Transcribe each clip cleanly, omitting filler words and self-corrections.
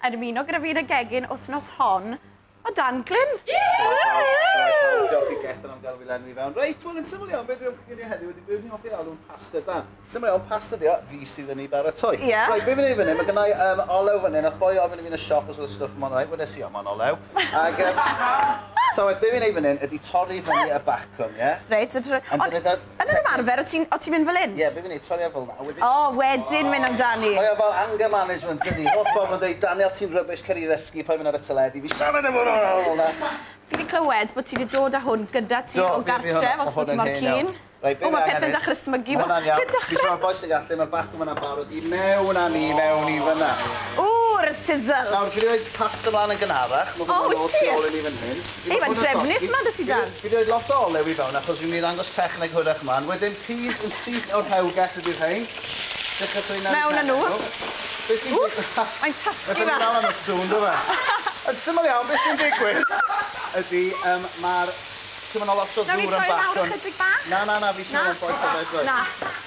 Yn ymuno gyda fi yn y gegin wythnos hon, o Dan Glyn. Diolch i Gethin am gael fi lenwi fewn. Reit, wel yn syml iawn, beth dwi'n coginio heddiw ydy beth ni'n hoffi alw'n pasta Dan. Syml iawn, pasta di o, fi sydd yn ei baratoi. Ie. Reit, be fi'n neud fan hyn, mae gennai olew fan hyn, nath boi ofyn i fi yn y siop os oedd y stwff yma'n reit, wedes i, o, mae'n olew. Ac, so, be fi'n neud fan hyn ydy torri fyny y bacwn, ie? Reit, so Ond ond dyna yn yr ymarfer, o ti'n mynd fel hyn? Ie, be fi'n neud, torri o fel 'na. a wedyn O, wedyn mynd amdani. Mae o fel anger management, dydi? Holl bobl yn dweud, "Daniel, ti'n rubbish, cer i ddysgu, paid mynd ar y teledu." Fi siarad efo hwnna fel 'na. Fi wedi clywed bod ti wedi dod â hwn gyda ti Do, o fi gartref, hwnna- os bod ti hwnna'n mor hen keen. iawn. Reit, be O, mae fi angen pethau'n neud- dechrau smygu. Ma' hwnna'n iawn. Dechrau. Fi siarad boi sy'n gallu, mae'r bacwn yna'n barod i mewn â ni, mewn i fyna. W'r sizzle. Nawr, fi wedi rhoi pasta mlaen yn gynharach. Mae O, hwnna'n wyt ôl ti? tu ôl i ni fan hyn. Fi Ei, 'di mae'n bod yn drefnus llosgi. 'ma 'da ti, Dan. Fi wedi rhoi lot o olew i fewn, achos fi'n mynd i ddangos techneg hwyrach mlaen. Wedyn, peas yn syth o'r rhewgell ydy'r rhain. Dechrau trwy Mewn â nhw. Be sy'n Ww, digwydd? mae'n tasgu Mae'n fe. dal am y sŵn, do fe? Yn syml iawn, beth sy'n digwydd ydy, mae'r... Ti'n mynd lot o Nawn ni ddŵr yn troi lawr bacwn. ychydig bach? Na, na, na, fi Na? siarad am boi cyfed. Na.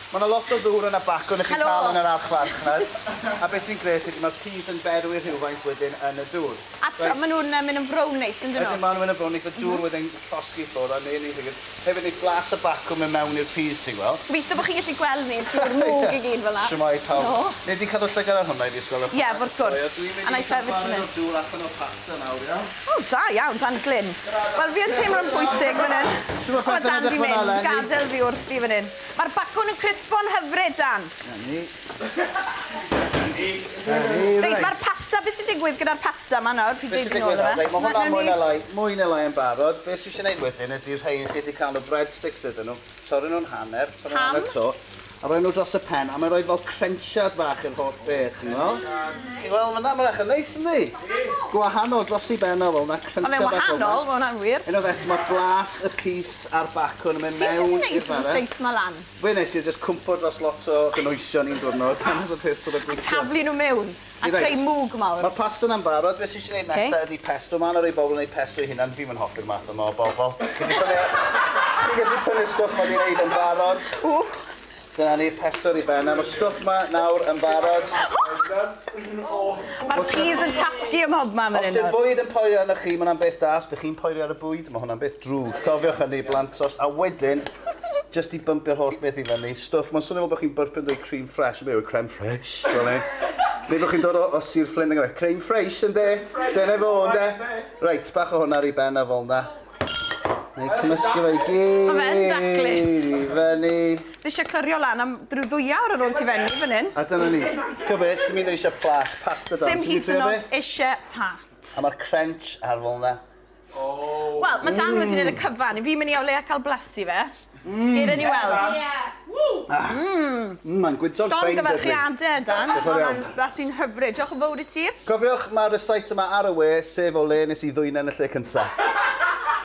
Mae yna lot o ddŵr yn y bacwn i chi Helo. cael yn yr archfarchnad. A beth sy'n grêt ydy mae'r peas yn berwi rhywfaint wedyn yn y dŵr. A maen nhw'n mynd yn frown neis, yn dyn Wedyn nhw? maen nhw'n mynd yn frown, y dŵr wedyn llosgi ffwrdd a neu ni hefyd neu blas y bacwn mynd mewn i'r peas, ti'n gweld? Gobeithio bod chi'n gallu gweld ni trwy'r mwg i gyd fel 'na. Shwmae pawb. No. Nei di cadw llygad ar hwnna i fi, sgwelwch? Ie, wrth gwrs. Dwi'n A mynd na i i sefyll cael fan hyn. o'r dŵr allan o'r pasta nawr, iawn? O, da iawn, Dan Glyn. Wel, fi yn teimlo'n bwysig fan hyn. Shwt ma' O, pethau'n Dan edrych di fan 'na, mynd, Lenny? gadael fi wrthi fan hyn. Mae'r bacwn yn crispo'n hyfryd, Dan. Na ni. Reit, mae'r pasta, beth sy'n digwydd gyda'r pasta yma nawr? Pryd Beth sy'n dweud yn ôl digwydd nawr? fe? Reit, mae hwnna Nawn mwy ni- na lai, mwy na lai yn barod. Beth sy'n eisiau gwneud wedyn ydy'r rhain chi wedi cael nhw breadsticks ydyn nhw. Torri nhw'n hanner, torri nhw'n Pam? hanner to. A rhoi nhw dros y pen, a mae'n rhoi fel crensiad bach i'r holl beth, ti'n gweld? Ti'n gweld, mae'n mae'n eich yn neis, yndi? Gwahanol dros i ben o fel na, Ond crensiad mae'n bach fel wahanol, mae hwnna'n wir. Unwaith eto, mae blas y pys a'r bacwn yn mynd Ti'n mewn gwneud i'r bara. steaks ma lan? Fe nes i just cwmpo dros lot o gynwysion un diwrnod. Dyna'r peth sort of gweithio. Taflu nhw mewn a Reit. creu mwg mawr. Mae'r pasta yna'n barod. Beth sy'n eisiau gwneud Ocê. nesaf ydy pesto. Mae yna rei bobl yn gwneud pesto eu hunan. Fi'n mynd hoffi'r math yma o bobl. Chi'n gallu prynu'r stwff ma di wneud yn barod. Ww. Dyna ni'r pesto ar ei ben. A mae'r stwff ma nawr yn barod. Mae'r peas yn tasgu ym mhobman fan Os hyn. di'r nawr. bwyd yn poeri arnoch chi, mae hwnna'n beth da. Os dych chi'n poeri ar y bwyd, mae hwnna'n beth drwg. Cofiwch hynny, blantos. A wedyn, just i bympio'r holl beth i fyny, stwff, mae'n swnio fel bod chi'n byrpyn dweud cream fresh. Be yw creme fresh? Fel ni. Neu bod chi'n dod o Sir Flint yn gweud, "Creme fresh, yndê?" Dyna fo, yndê? Reit, bach o hwnna ar ei ben a fel 'na. Neu cymysgu fe i gyd Ma' fe'n daclus. i fyny. Fi eisiau clirio lan am drwy 2 awr ar ôl ti fenni fan hyn. A dyna ni. Gwybod, sy'n mynd eisiau plat, pasta dan. Sim Ti'n mynd hyd i yn trio oed beth? eisiau plat. A mae'r crunch ar fel 'na. Wel, mae Dan wedi gwneud y cyfan. Fi'n mynd i o leia cael blasu fe. Gyd ni weld. Mae'n gwyntog ffein, dydy. Llongyfarchiadau, Dan. Diolch yn fawr iawn. Mae'n blasu'n hyfryd. Diolch yn fawr i ti. Cofiwch, mae'r recite yma ar y we, sef o le nes i ddwy'n yn y lle cyntaf.